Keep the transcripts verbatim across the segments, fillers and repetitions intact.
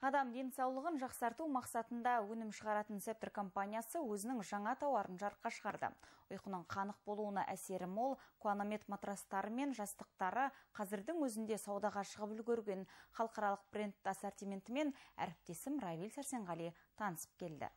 Адам денсаулығын жақсарту мақсатында өнім шығаратын Цептер компаниясы өзінің жаңа тауарын жарыққа шығарды. Ұйқының қанық болуына әсері мол, Куанамед матрастары мен жастықтары қазірдің өзінде саудаға шығып үлгерген. Халықаралық бренд ассортиментімен әріптесім Равиль Сәрсенғали танысып келді.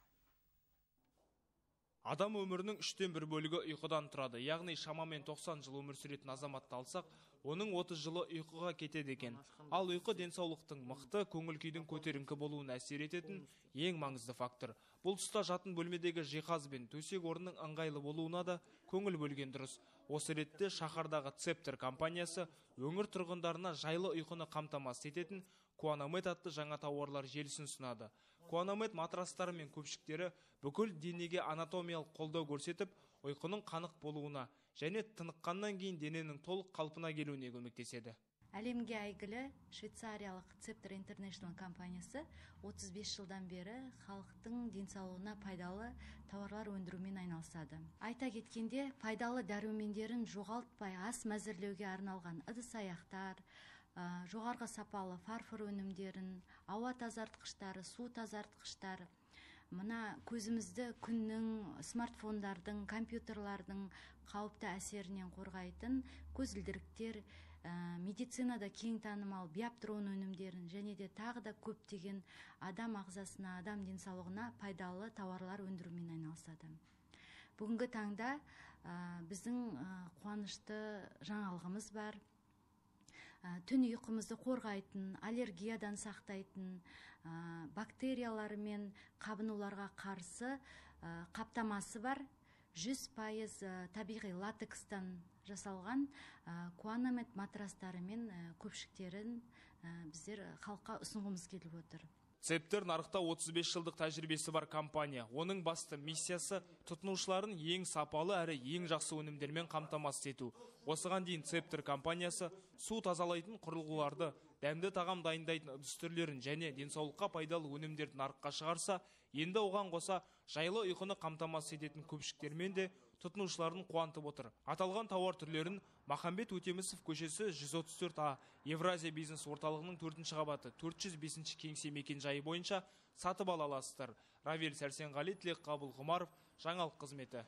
Адам өмірінің үштен бір бөлігі ұйқыдан тұрады. Яғни шамамен тоқсан жыл өмір сүретін азаматты алсақ, оның отыз жылы ұйқыға кетеді екен. Ал ұйқы денсаулықтың мықты, көңіл-күйдің көтеріңкі болуына әсер ететін ең маңызды фактор. Бұл тұста жатын бөлмедегі жиһаз бен төсек орынның ыңғайлы болуына да көңіл бөлген дұрыс. Осы ретте шаһардағы Цептер компаниясы өңір тұрғындарына жайлы ұйқыны қамтамасыз ететін Куанамед атты жаңа тауарлар желісін ұсынады. Куанамед матрастары мен көпшіктері бүкіл денеге анатомиялық қолдау көрсетіп, ұйқының қанық болуына және тыныққаннан кейін дененің толық қалпына келуіне көмектеседі. Әлемге әйгілі швейцариялық Цептер Интернешнл компаниясы отыз бес жылдан бері халықтың денсаулығына пайдалы тауарлар өндірумен айналысады. Айта кеткенде, пайдалы дәрумендерін жоғалтпай ас мәзірлеуге арналған ыдыс-аяқтар, жоғарғы сапалы фарфор өнімдерін, ауа тазартқыштары, су тазартқыштар, мына көзімізді күннің, смартфондардың, компьютерлардың қауіпті әсерінен қорғайтын көзілдіріктер, медицинада кең танымал биоптрон өнімдерін және де тағы да көптеген адам ағзасына, адам денсаулығына пайдалы тауарлар өндірумен айналысады. Бүгінгі таңда біздің қуанышты жаңалығымыз бар. Түн ұйқымызды қорғайтын, аллергиядан сақтайтын, бактериялар мен қабынуларға қарсы қаптамасы бар. жүз пайыз табиғи латекстан жасалған Куанамед матрастары мен көпшіктерін біздер халыққа ұсынғымыз келіп отыр. Цептер нарықта отыз бес жылдық тәжірибесі бар компания. Оның басты миссиясы тұтынушыларын ең сапалы әрі ең жақсы өнімдермен қамтамасыз ету. Осыған дейін Цептер компаниясы су тазалайтын құрылғыларды, дәмді тағам дайындайтын ыдыс түрлерін және денсаулыққа пайдалы өнімдерді нарыққа шығарса, енді оған қоса жайлы ұйқыны қамтамасыз ететін көпшіктермен де тұтынушыларын қуантып отыр. Аталған тауар түрлерін Махамбет Өтемісов көшесі жүз отыз төрт А Евразия бизнес орталығының төртінші қабаты төрт жүз бесінші кеңсе мекен жайы бойынша сатып ала аласыздар. Равиль Сәрсенғали, Тілекқабыл Ғұмаров, жаңалық қызметі.